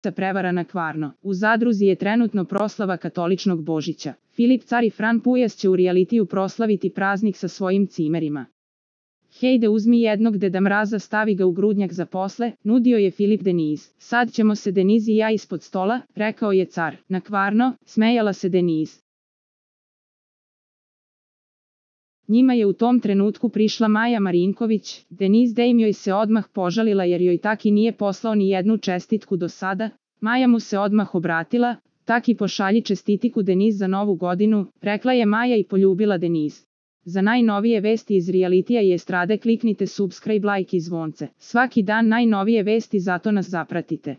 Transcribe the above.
prevara na Kvarno. U Zadruzi je trenutno proslava katoličnog Božića. Filip Car i Fran Pujas će u realitiju proslaviti praznik sa svojim cimerima. Hejde, uzmi jednog Deda Mraza, stavi ga u grudnjak za posle, nudio je Filip Deniz. Sad ćemo se Deniz i ja ispod stola, rekao je Car. Na Kvarno, smejala se Deniz. Njima je u tom trenutku prišla Maja Marinković. Deniz Dame joj se odmah požalila jer joj Taki nije poslao ni jednu čestitku do sada. Maja mu se odmah obratila. Taki, pošalji čestitiku Deniz za novu godinu, rekla je Maja i poljubila Deniz. Za najnovije vesti iz realitija i estrade kliknite subscribe, like i zvonce. Svaki dan najnovije vesti, zato nas zapratite.